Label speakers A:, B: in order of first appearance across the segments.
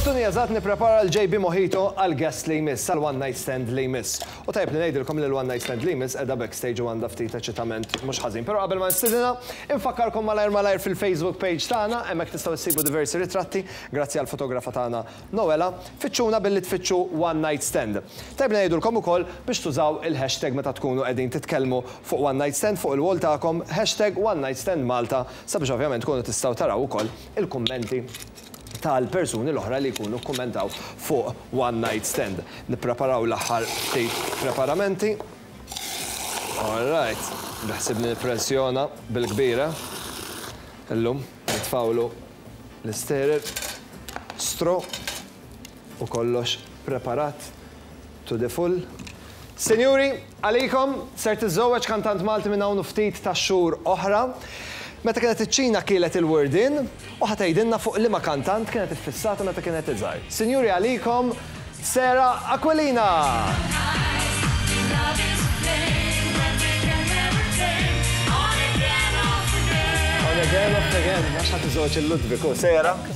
A: Pottuni eżatt nipprepara l-JB Mojito għall-guest li jmiss, għal one night stand li jmiss. U tajjeb li ngħidilkom li l-one night stand li jmiss qiegħda backstage u għandha ftit eċitament mhux ħażin. Però qabel ma nistidinha, infakkarkom malajr malajr fil-Facebook page tagħna, hemmhekk tistgħu issibu diversi ritratti grazzi għall-fotografa tagħna Noela. Fittxuna billi tfittxu one night stand. Tajjeb li ngħidulkom ukoll biex tużaw il-hashtag meta tkunu qegħdin titkellmu fuq one night stand fuq il-wall tagħkom, hashtag one night stand Malta sabiex ovvjament tkunu tistgħu taraw ukoll il-kummenti tal-persuni l-oħra li jkunu kkummentaw fuq One Night Stand. Nippreparaw l-aħħar ftit preparamenti. All right, biħsibni nippressjona bil-kbira. Illum nitfgħulu l-isterer, straw u kollox preparat to the full. Sinjuri, għalikom, ser tiżżewweġ kantant Malti minn hawn u ftit tax-xhur oħra. Meta kienet iċ-Ċina kielet il-wordin u ħa tgħidilna fuq liema kantant kienet iffissata meta kienet iżgħar. Sinjuri għalikom, Sarah Aquilina! On again, off again, għax ħa tiżżewweġ il-Ludwig u Sarah.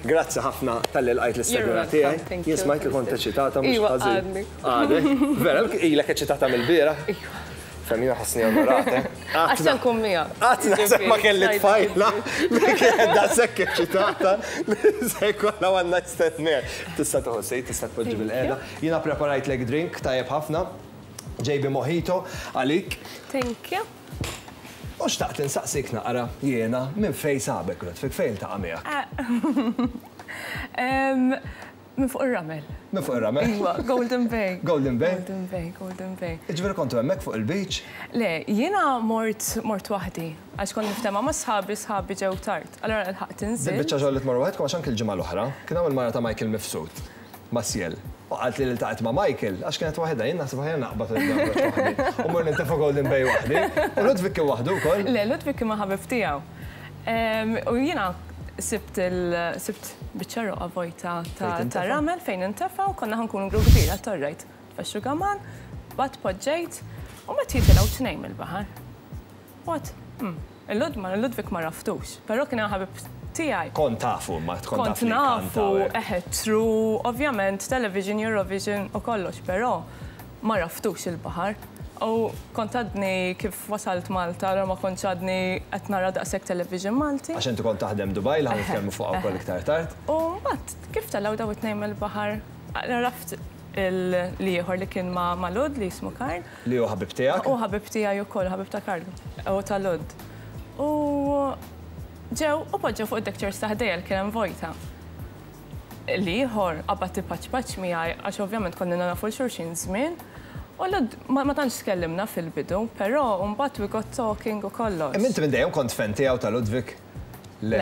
A: Grazzi ħafna talli lqajt l-istedina tiegħi. Jien smajt li kont eċitata mhux
B: Iva,
A: ħażin.
B: għadni.
A: Għadek? Vera, ilek eċitata mill-bieraħ?
B: Iva.
A: Fem jiena ħassni onorata.
B: Għax se nkun miegħek.
A: Qatt naħseb ma kelli tfajla li kienet daqshekk eċitata li se jkollha one night stand miegħi. Tista' tieħu seat, tista' tpoġġi bil-qiegħda. Jiena preparajtlek drink tajjeb ħafna. JB Mojito għalik.
B: Thank you.
A: U xtaqt insaqsik naqra jiena minn fejn sabek Ludwig, fejn iltaqa' miegħek?
B: Minn fuq ir-ramel.
A: Minn fuq ir-ramel?
B: Iva, Golden Bay.
A: Golden Bay?
B: Golden Bay, Golden Bay.
A: Jiġifieri kontu hemmhekk fuq il-beach?
B: Le, jiena mort mort waħdi għax kont niftema' ma' sħabi, sħabi ġew tard. Allura lħaqt inżilt.
A: Dil-biċċa xogħol li tmorru waħedkom għax anki l-ġimgħa l-oħra kien hawn il-mara ta' Michael Mifsud. Maciel. U qaltli li ltaqgħet ma' Michael għax kienet waħedha. Jien naħseb aħjar naqbad u nibda noħroġ waħdi. U mmur nintefa' Golden Bay waħdi. U Ludwig kien waħdu wkoll?
B: Le, Ludwig kien ma' ħabib tiegħu. U jiena sibt il sibt biċċa roqgħa vojta ta' ramel fejn nintefa' u konna ħa nkunu grupp kbir għedt all right. Tfexxu gaman, bgħadt poġġejt u mbagħad jitilgħu tnejn mill-baħar. What? Hmm. Il-Lud ma Ludwig ma raftux, però kien hemm ħabib tiegħi.
A: Kont tafu imma kont taf
B: Kont nafu, eħe, true, ovvjament television, Eurovision u kollox, però ma raftux il-baħar. U kont għadni kif wasalt Malta, allura ma kontx għadni qed nara daqshekk television Malti.
A: Għax inti kont taħdem Dubai li ħa nitkellmu fuqha wkoll iktar tard.
B: U mbagħad kif telgħu daw it-tnejn mill-baħar, raft l-ieħor li kien ma' Lud li jismu Karl.
A: Li hu ħabib tiegħek?
B: Hu ħabib tiegħi wkoll, ħabib ta' Karl u ta' Lud. U ġew u poġġew fuq id-deck chairs ta' ħdejja li kien hemm vojta. L-ieħor qabad ipaċpaċ miegħi għax ovvjament konna nafu 'l xulxin żmien. U Lud ma tantx tkellimna fil-bidu, però mbagħad we got talking u kollox.
A: Imma inti minn dejjem kont fan tiegħu ta' Ludwig? Le.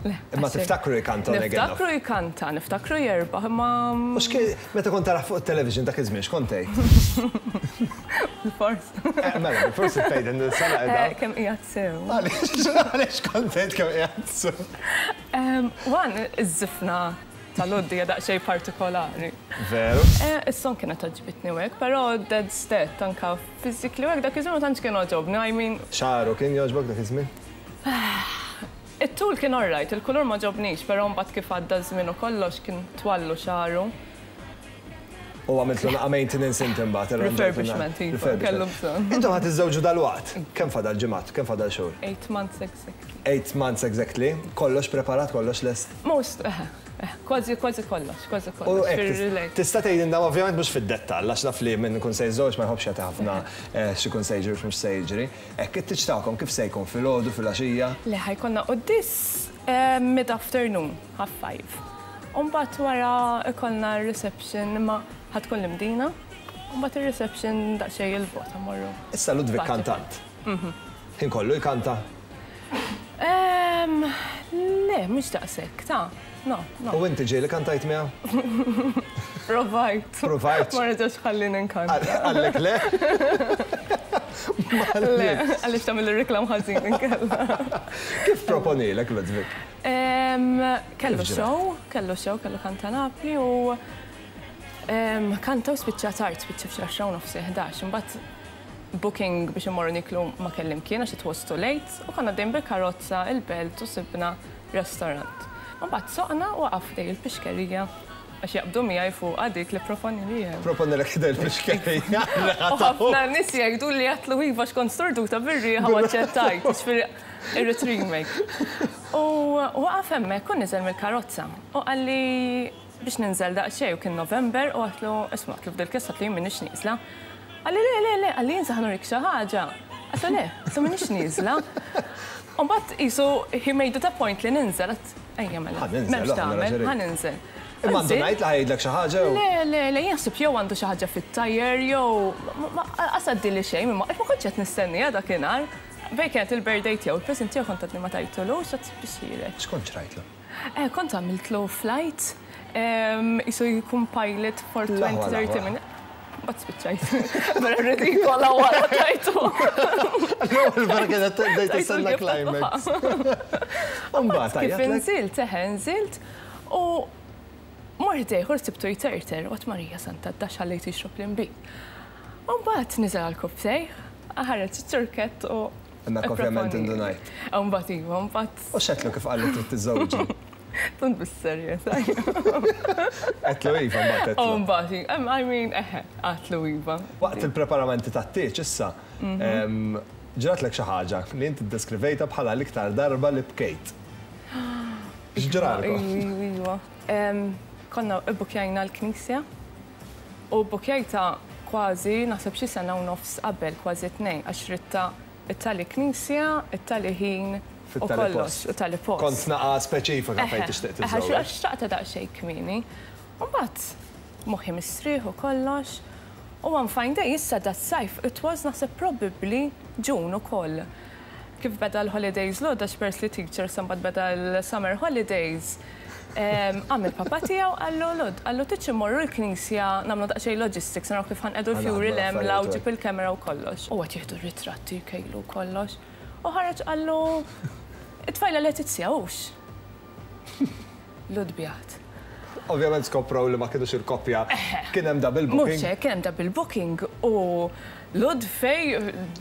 B: Le.
A: Imma tiftakru jkanta on again off?
B: Niftakru jkanta, niftakru jirbaħ, imma.
A: U x'kien, meta kont tarah fuq it-television dak iż-żmien, x'kont tgħid?
B: Bilfors.
A: Mela, bilfors tgħid din is-sena qiegħda.
B: Kemm qiegħed sew.
A: Għaliex, għaliex kont tgħid kemm qiegħed sew?
B: One, iż-żifna ta' Lud hija daqsxejn partikolari.
A: Veru.
B: Is-song kienet għoġbitni u hekk, però that's that, anke physically u hekk dak iż-żmien ma tantx kien għoġobni, I mean.
A: Xagħru kien jogħġbok dak iż-żmien?
B: It-tul kien alright, il-kulur ma għoġobnix, però mbagħad kif għadda ż-żmien u kollox kien twallu xagħru.
A: U għamiltlu naqa' maintenance inti mbagħad irranġajtlu.
B: Refurbishment, iva, kellu bżonn.
A: Intom ħa tiżżewġu dalwaqt. Kemm fadal ġimgħat? Kemm fadal xhur?
B: Eight months exactly.
A: Eight months exactly. Kollox preparat, kollox lest?
B: Most, eħe, eħe, kważi, kważi kollox, kważi kollox.
A: U hekk, tista' tgħidilna, ovvjament mhux fid-dettall, għax naf li min ikun se jiżżewweġ ma jħobbx jagħti ħafna x'ikun se jiġri u x'mhux se jiġri. Hekk, it-tieġ tagħkom kif se jkun? Filgħodu, filgħaxija?
B: Le, ħa jkollna quddies mid-afternoon, half five. U mbagħad wara jkollna r-reception imma ħa tkun l-Imdina. U mbagħad ir-reception daqsxejn 'il bogħod ħa mmorru.
A: Issa Ludwig kantant. Ħin kollu jkanta?
B: Le, mhux daqshekk, ta. No, no.
A: U inti ġieli kantajt miegħu?
B: Provajt.
A: Provajt.
B: Ma reġax ħallini nkanta.
A: Qallek le?
B: Le, għaliex tagħmel ir-reklam ħażin inkella.
A: Kif proponilek Ludwig?
B: Kellu show, kellu show, kellu kanta Napli u kanta u spiċċa tard, spiċċa f'xi għaxra u nofs 11. Imbagħad booking biex immorru niklu ma kelli mkien għax it was too late u konna għaddejjin bil-karozza il-Belt u sibna restaurant. U mbagħad soqna u waqaf ħdej il-pixkerija għax jaqbdu miegħi fuqha dik li pproponili hemm.
A: Proponilek ħdej il-pixkerija.
B: U ħafna nies jgħidu li għedtlu iva għax kont storduta bir-riħa u aċċettajt, jiġifieri irrid remake. U waqaf hemmhekk u niżel mill-karozza u qalli biex ninżel daqsxejn u kien November u għedtlu isma' għedtlu f'dil-każ għedtlu jien m'iniex nieżla. Qalli le, le, le, qalli jien sa ħa nurik xi ħaġa. Għedtlu le, għedtlu m'iniex nieżla. U mbagħad qisu he made it a point li ninżel, għedt ejja mela. M'hemmx tagħmel, ħa ninżel.
A: Imma għandu ngħid li ħa jgħidlek xi ħaġa jew?
B: Le, le, le, jien ħsibt jew għandu xi ħaġa fit-tajer jew qas għaddieli xejn imma ma kontx qed nistenniha dakinhar. Bejn kienet il-birthday tiegħu, il-present tiegħu kont għadni ma tajtulux, għedt biex ħiereġ.
A: X'kont xrajtlu?
B: Kont għamiltlu flight, qisu jkun pilot for 20, 30 minutes. Mbagħad spiċċajt. Vera ridikola wara tajtu.
A: L-ewwel vera kienet bdejt tistenna climax. Mbagħad
B: kif inżilt, eħe nżilt u mort ħdejh u rsibtu jterter u għedt Marija Santa d-dax ħallejtu jixrob l-inbid. U mbagħad niżel għall-kubbtejh, ħareġ iċ-ċurkett u
A: Hemmhekk ovvjament indunajt.
B: U mbagħad iva, mbagħad.
A: U x'għedtlu kif qalli trid tiżżewġi?
B: Tant bis-serjetà.
A: Għedtlu iva mbagħad għedtlu.
B: U mbagħad, I mean, eħe, għedtlu iva.
A: Waqt il-preparamenti tat-tieġ issa, ġratlek xi ħaġa li inti ddeskrivejtha bħala l-iktar darba li bkejt. X'ġralkom?
B: Iva, iva. Konna bbukkjajna l-knisja u bbukkjajtha kważi naħseb xi sena u nofs qabel, kważi tnejn, għax ridtha It-tali knisja, it-tali ħin u kollox, u tali post.
A: Kont naqa' speċifika fejn tixtieq tiżżewweġ.
B: Eħe, għax xtaqtha daqsxejn kmieni. U mbagħad moħħi mistrieħ u kollox. U one fine day, issa das-sajf, it was naħseb probably June ukoll. Kif beda l-holidays l-għodda għax peress li teacher issa mbagħad beda l-summer holidays, Qam il-papa tiegħu qallu, Lud, qallu tridx immorru l-knisja nagħmlu daqsxejn logistics naraw kif ħa nqiegħdu l-fjuri 'l hemm 'l hawn ġib il-camera u kollox. U qed jieħdu r-ritratti jkejlu u kollox. U ħareġ qallu, It-tfajla Letizia hux? Lud bjad.
A: Ovvjament skoprow li ma kinux il-koppja. Kien hemm double booking.
B: Mhux hekk, kien hemm double booking u Lud fej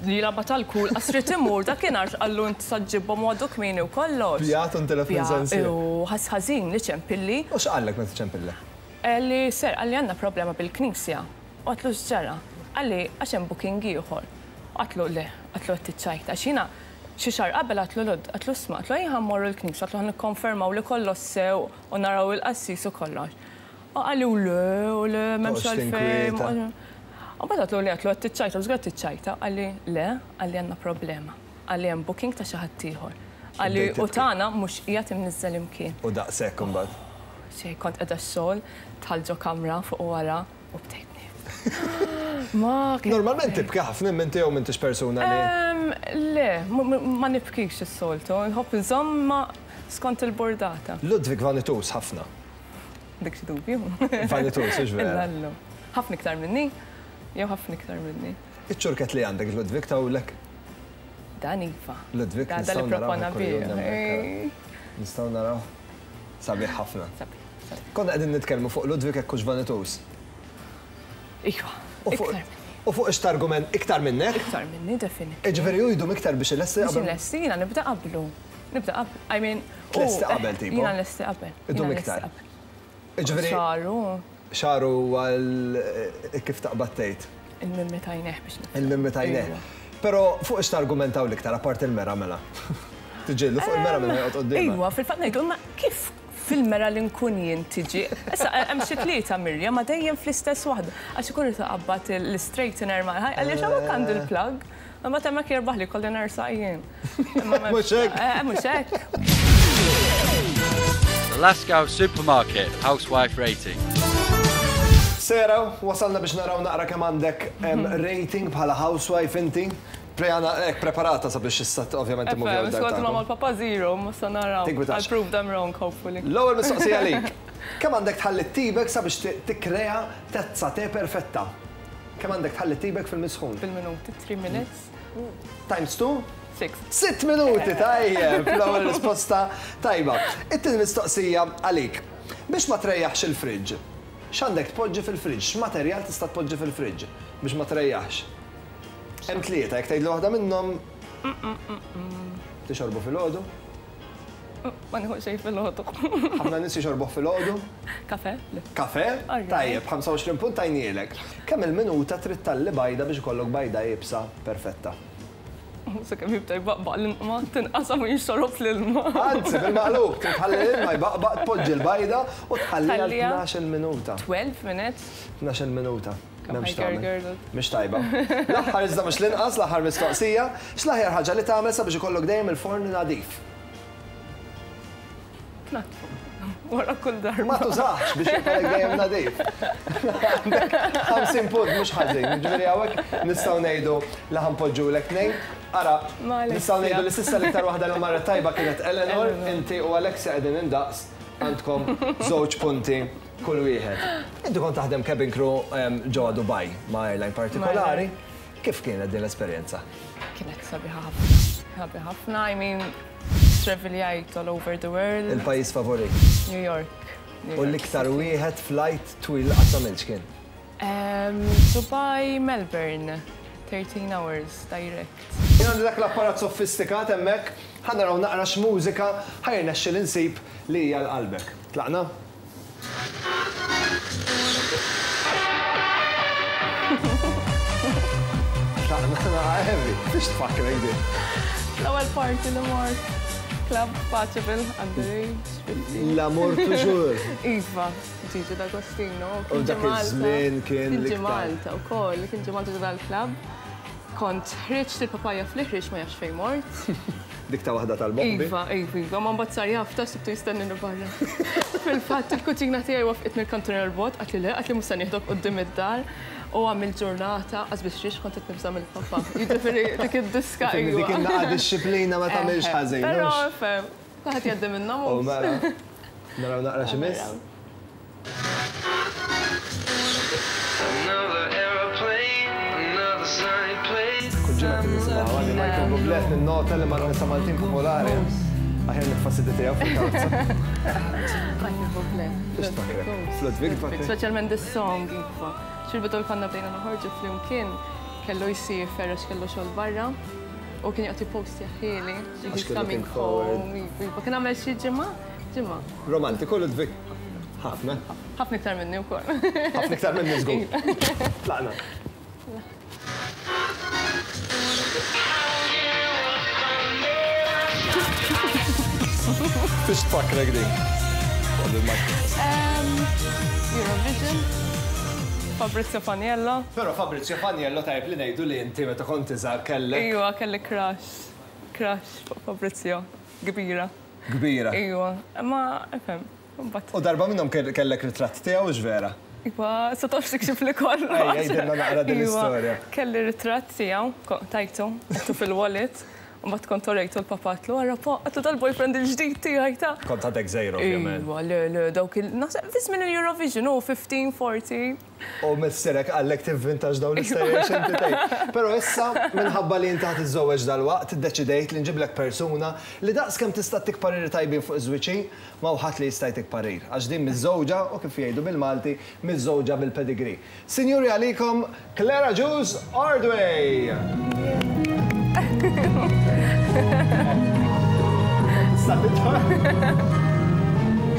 B: jilgħabha tal-kul qas ried imur dakinhar x'qallu int sa ġġibhom u għadu kmieni u kollox.
A: Bjat u ntilef minn sensieh.
B: U ħass ħażin li ċempilli.
A: U x'qallek meta ċempillek?
B: Qalli sir, qalli għandna problema bil-knisja. U għedtlu x'ġara? Qalli għax hemm booking ieħor. U għedtlu le, għedtlu qed tiċċajta għax jiena xi xahar qabel għedtlu Lud, għedtlu isma' għedtlu ejja ħa mmorru l-knisja, għedtlu ħa nikkonfermaw li kollox sew u naraw il-qassis u kollox. U qalli u le, u le, m'hemmx għalfejn. U mbagħad għedtlu le, għedtlu qed tiċċajta, żgur qed tiċċajta. Qalli le, qalli għandna problema. Qalli hemm booking ta' xi ħadd ieħor. Qalli u tagħna mhux qiegħed imniżżel imkien.
A: U daqshekk imbagħad?
B: Xejn, kont qiegħda x-xogħol, dħalt ġo kamra fuq u wara u bdejt nibki. Ma.
A: Normalment tibki ħafna imma inti jew m'intix persuna
B: li. Le, ma nibkix is-soltu, nħobb inżomm ma skont il-burdata.
A: Ludwig vanituż ħafna.
B: Dik xi dubju.
A: Vanituż, hux vera?
B: Illallu. Ħafna iktar minni? Jew ħafna iktar minni.
A: Iċ-ċurkett li għandek Ludwig tawlek?
B: Dan iva.
A: Ludwig
B: nistgħu naraw.
A: Nistgħu naraw. Sabiħ ħafna. Sabiħ. Konna qegħdin nitkellmu fuq Ludwig hekk hux vanituż.
B: Iva. Iktar minni.
A: U fuq x'targument iktar minnek?
B: Iktar minni, definitely.
A: Jiġifieri hu jdum iktar biex ilesti
B: qabel. Biex ilesti, jiena nibda qablu. Nibda qabel, I mean.
A: Tlesti qabel tipo?
B: Jiena nlesti qabel.
A: Idum iktar.
B: Jiġifieri. Xagħru.
A: Xagħru huwa l kif taqbad tgħid?
B: Il-mimmi t'għajnejh biex nifhem.
A: Il-mimmi t'għajnejh. Però fuq x'targumentaw l-iktar apparti l-mera mela? Tiġġieldu fuq il-mera minn joqgħod quddiemha.
B: Iwa, fil-fatt ngħidu imma kif fil-mera li nkun jien tiġi. Issa hemm xi tlieta Mirja ma dejjem fl-istess waħda. Għax ikun irid iqabbad l-istraightener mal-ħajt, għaliex hawnhekk għandi l-plug. Imbagħad hemmhekk jirbaħli jkolli nersaq jien.
A: Mhux hekk?
B: Eh, mhux hekk.
C: The Lascaux Supermarket Housewife Rating.
A: Sarah, wasalna biex naraw naqra kemm għandek rating bħala housewife inti. Prejana hekk preparata sabiex issa ovvjament immuvjaw
B: id-dar. Skont ma mal-papa zero, ma sa naraw. I'll prove them wrong hopefully.
A: L-ewwel mistoqsija għalik. Kemm għandek tħalli t-tibek sabiex tikkrea tazza te perfetta? Kemm għandek tħalli t-tibek fil-misħun?
B: Fil-minuti, 3 minutes.
A: Times 2?
B: 6.
A: Sitt minuti, tajjeb, l-ewwel risposta tajba. It-tieni mistoqsija għalik. Biex ma trejjaħx il-fridge, x'għandek tpoġġi fil-fridge? X'materjal tista' tpoġġi fil-fridge biex ma trejjaħx? Hemm tlieta, jekk tgħidli waħda minnhom. Tixorbu filgħodu?
B: Ma nieħu xejn filgħodu.
A: Ħafna nies jixorbuh filgħodu?
B: Kafè? Le.
A: Kafè? Tajjeb, 25 punt tajnielek. Kemm il-minuta trid tgħalli bajda biex ikollok bajda iebsa perfetta?
B: Sakemm jibda jbaqbaq l-ilma, tinqasam u jinxtorob l-ilma.
A: Anzi, bil-maqlub, trid tħalli l-ilma jbaqbaq, tpoġġi l-bajda u tħalliha għal 12-il minuta.
B: 12 minutes?
A: 12-il minuta. M'hemmx tagħmel. Mhix tajba. L-aħħar iżda mhux l-inqas, l-aħħar mistoqsija, x'l-aħjar ħaġa li tagħmel sabiex ikollok dejjem il-forn nadif?
B: Tnaddfu. Wara kull darba.
A: Ma tużax biex jibqalek dejjem nadif. Għandek 50 punt mhux ħażin. Ġifieri hawnhekk nistgħu ngħidu li ħanpoġġulek tnejn. Ara, nistgħu ngħidu li s'issa l-iktar waħda li marret tajba kienet Eleanor, inti u Alexia qegħdin indaqs għandkom żewġ punti kull wieħed. Inti kont taħdem cabin crew ġewwa Dubai ma' airline partikolari. Kif kienet din l-esperjenza?
B: Kienet sabiħa ħafna. Sabiħa ħafna, I mean, traveljajt all over the world.
A: Il-pajjiż favorit?
B: New York.
A: U l-iktar wieħed flight twil li qatt għamilt x'kien?
B: Dubai, Melbourne. 13 hours direct.
A: Jien għandi dak l-apparat sofistikat hemmhekk, ħa naraw naqra x'mużika ħa jirnexxili nsib li hija għal qalbek. Tlaqna? Heavy, biex tfakkrek din.
B: L-ewwel party li mort Club Paceville underage.
A: L-amor toujours.
B: Iva, Gigi D'Agostino.
A: U dak iż-żmien kien
B: Kien ġie Malta wkoll, kien ġie Malta dal-club. Kont ħriġt il-papaja fl-iħriġ ma jafx fejn mort.
A: Dik ta' waħda tal-bombi?
B: Iva, iva, iva, ma mbagħad sar jaf ta' sibtu jistennini barra. Fil-fatt il-kuġina tiegħi waffqitni l-kantuniera l-bogħod, qaltli le, qaltli mhux se nieħdok quddiem id-dar. U għamilt ġurnata, qas biss xiex kont qed nibża' mill-papa. Jiġifieri dik id-diska
A: iva. Dik in-naqa dixxiplina ma tagħmilx ħażin.
B: Però fhem, kulħadd jgħaddi minnhom.
A: U mela, naraw naqra xi miss. Kull ġimgħa kien nisimgħu għandi Michael Bublé ninnota li ma' nisa Maltin popolari. Aħjar nitfa' CD tiegħu fil-karozza.
B: Michael Bublé.
A: Ludwig tfakrek.
B: Speċjalment this song iva. Xil-bidu l-konna bdejna noħorġu flimkien kellu jsiefer għax kellu xogħol barra u kien joqgħod jippost ħieli.
A: Għax kien looking forward.
B: Iva, kien għamel xi ġimgħa, ġimgħa.
A: Romantiku Ludwig. Ħafna.
B: Ħafna iktar minni wkoll.
A: Ħafna iktar minni żgur. Tlaqna. Fiex tfakkrek din?
B: Eurovision. Fabrizio Faniello.
A: Però Fabrizio Faniello tajjeb li ngħidu li inti meta kont iżgħar kellek.
B: Iwa, kelli crush. Crush fuq Fabrizio. Kbira.
A: Kbira.
B: Iwa, imma ifhem.
A: U darba minnhom kellek ritratt tiegħu hux vera?
B: Iva, sa tafx tikxif li kollox.
A: Ejja, għidilna naqra din l-istorja.
B: Kelli ritratt tiegħu, tajtu, għedtu fil-wallet, u mbagħad kont orejtu l-papa għedtlu ara pa, għedtlu dal-boyfriend il-ġdid tiegħi ta'.
A: Kont għadek żgħir ovvjament.
B: Iva, le, le, dawk il, naħseb fi żmien il-Eurovision, hu 15, 14.
A: U missierek qallek tivvintax dawn l-istejjer x'inti tgħid. Però issa, minħabba li inti ħa tiżżewweġ dalwaqt, iddeċidejt li nġiblek persuna li daqs kemm tista' ttik pariri tajbin fuq iż-żwieġ hi, m'hawn ħadd li jista' jtik parir. Għax din miżżewġa u kif jgħidu bil-Malti, miżżewġa bil-pedigree. Sinjuri għalikom Claire Agius Ordway! Tista' tidħol.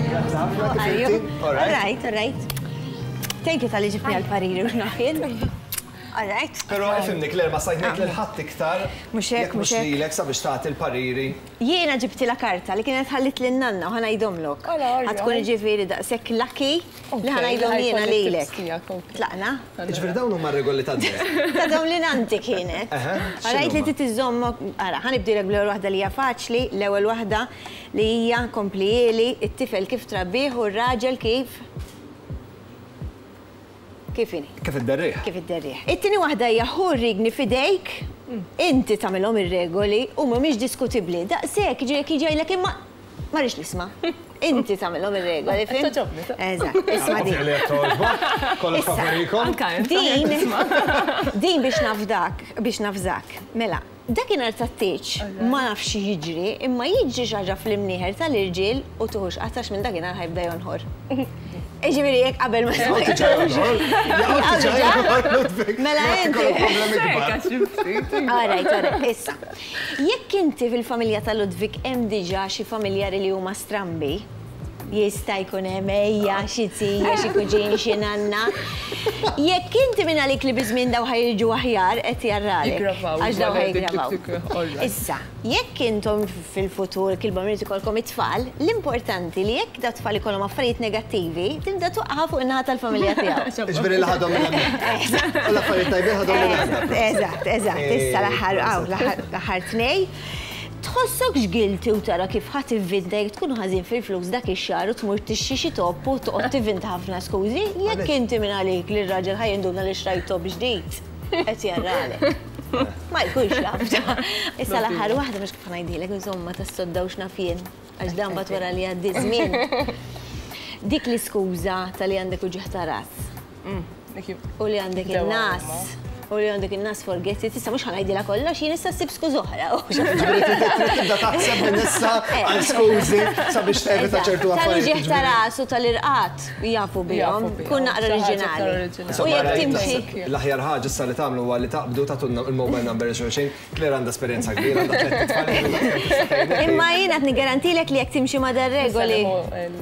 A: Grazzi ħafna kif inti?
D: All right, all right. Thank you tal-li ġibni għal-pariri u xnaħin. All right.
A: Pero ifimni Claire ma stajt ngħid lil ħadd iktar.
D: Mhux hekk,
A: mhux lilek sabiex tagħti l-pariri.
D: Jiena ġibtilha karta li kienet ħallit lil nanna u ħa ngħidhomlok. Ħa tkun jiġifieri daqshekk lucky li ħa ngħidhom jiena lilek. Tlaqna?
A: Jiġifieri dawn huma r-regoli tad-deheb.
D: Ta' dawn li nannti kienet. Rajt li trid iżżomm, ara, ħa nibdielek bl-ewwel waħda li hija faċli, l-ewwel waħda li hija komplihieli, it-tifel kif trabbih u r-raġel kif Kif inhi?
A: Kif idderrih.
D: Kif idderrih. It-tieni waħda hija ħu r-rigni f'idejk, inti tagħmilhom ir-regoli u mhumiex diskutibbli. Daqshekk, jiġifieri jekk jiġi jgħidlek imma ma rridx nisma'. Inti tagħmilhom ir-regoli, fhimt?
B: Togħġobni.
D: Eżatt, isma' din.
A: Li qed togħġbok, kollox favorikom.
B: Anka int.
D: Din, din biex nafdak, biex nafżak. Mela, dakinhar tat-tieġ ma nafx x'jiġri, imma jiġri xi ħaġa fl-imnieħer tal-irġiel u tieħux qatt għax minn dakinhar ħa jibda jonħor. Ġifieri jekk qabel ma smajtux. Mela inti. Alright, alright, issa. Jekk inti fil-familja ta' Ludwig hemm diġà xi familjari li huma strambi, jista' jkun hemm ejja, xi zija, xi kuġin, xi nanna. Jekk inti minn għalik li biż-żmien daw ħa jiġu aħjar qed jarralek. Għax daw ħa jiggravaw. Issa, jekk intom fil-futur kilba mrid ikollkom it-tfal, l-importanti li jekk da tfal ikollhom affarijiet negattivi, tibda tuqqa' fuq in-naħa tal-familja tiegħu.
A: Jiġifieri li ħadhom minn hemmhekk. U l-affarijiet tajbin ħadhom minn hemmhekk.
D: Eżatt, eżatt. Issa l-aħħar, l-aħħar tnej. Tħossokx guilty u tara kif ħa tivvinta jekk tkun ħażin fil-flus dak ix-xahar u tmur tixtri xi top u toqgħod tivvinta ħafna skużi, jekk inti minn għalik li r-raġel ħa jinduna li xtrajt top ġdid, qed jarralek. Ma jkunx jaf ta. Issa l-aħħar waħda mhux kif ħa ngħidilek insomma tas-sodda u x'naf jien, għax dan mbagħad wara li jgħaddi ż-żmien. Dik l-iskuża ta' li għandek uġigħ ta' ras. U li għandek in-nas. U li għandek in-nas forget it, issa mhux ħa ngħidilha kollox, jien issa ssib skuż oħra.
A: Trid tibda taħseb minn issa għal skużi sabiex tevita ċertu affarijiet.
D: Tal-uġigħ ta' ras u tal-irqad jafu bihom, kun naqra oriġinali. U jekk timxi.
A: L-aħjar ħaġa issa li tagħmlu huwa li taqbdu tagħtulna il-mobile number lil xulxin. Claire għandha esperjenza kbira, għandha tlett itfal.
D: Imma jien qed niggarantilek li jekk timxi ma' dar-regoli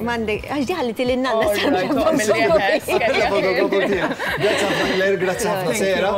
D: m'għandek għax di ħalliti lil nanna
A: Grazzi ħafna Claire, grazzi ħafna Sera.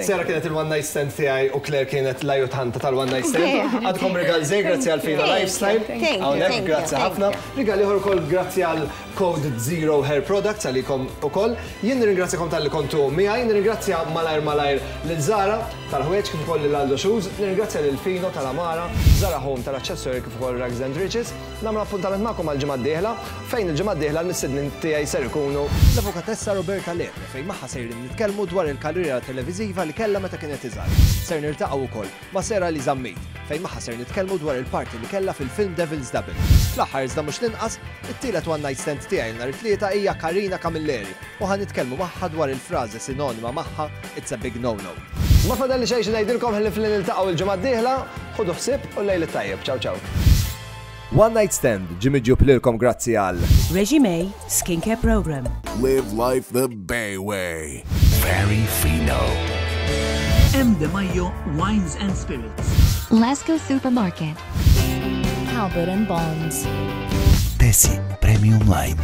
A: Sera kienet il-one night stand tiegħi u Claire kienet l-ajutanta tal-one night stand. Għandkom rigal żgħir grazzi għal Fina Lifestyle. Hawnhekk grazzi ħafna. Rigal ieħor ukoll grazzi għal Code Zero Hair Products għalikom ukoll. Jien nirringrazzjakom talli kontu miegħi, nirringrazzja malajr malajr lil Zara tal-ħwejjeġ kif ukoll lil Aldo Shoes, nirringrazzja lil Fino tal-Amara, Zara Home tal-aċċessorji kif ukoll Rags and Riches. Nagħmel appuntament magħkom għall-ġimgħa d-dieħla fejn il-ġimgħa d-dieħla l-mistednin tiegħi ser ikunu l-Avukatessa Roberta Lepre fejn magħha sejrin nitkellmu dwar il-karriera televiżiva li kellha meta kienet iżgħar. Ser niltaqgħu wkoll ma' Sarah Lee Zammit, fejn magħha ser nitkellmu dwar il-parti li kellha fil-film Devil's Double. Fl-aħħar iżda mhux l-inqas, it-tielet one night stand tiegħi nhar it-Tlieta hija Karina Camilleri u ħa nitkellmu magħha dwar il-frażi sinonima magħha It's a big no no. Ma fadalli xejn xi ngħidilkom ħlief li niltaqgħu l-ġimgħa d-dieħla, ħudu ħsieb u l-lejl it-tajjeb. Ciao ciao. One Night Stand ġie miġjub lilkom grazzi għal.
E: Regime Skincare Program.
F: Live life the Bay way.
G: Very Fino.
H: M. De Maio Wines and Spirits.
I: Lasco Supermarket.
J: Halbert and Bonds.
G: Tesi Premium Line.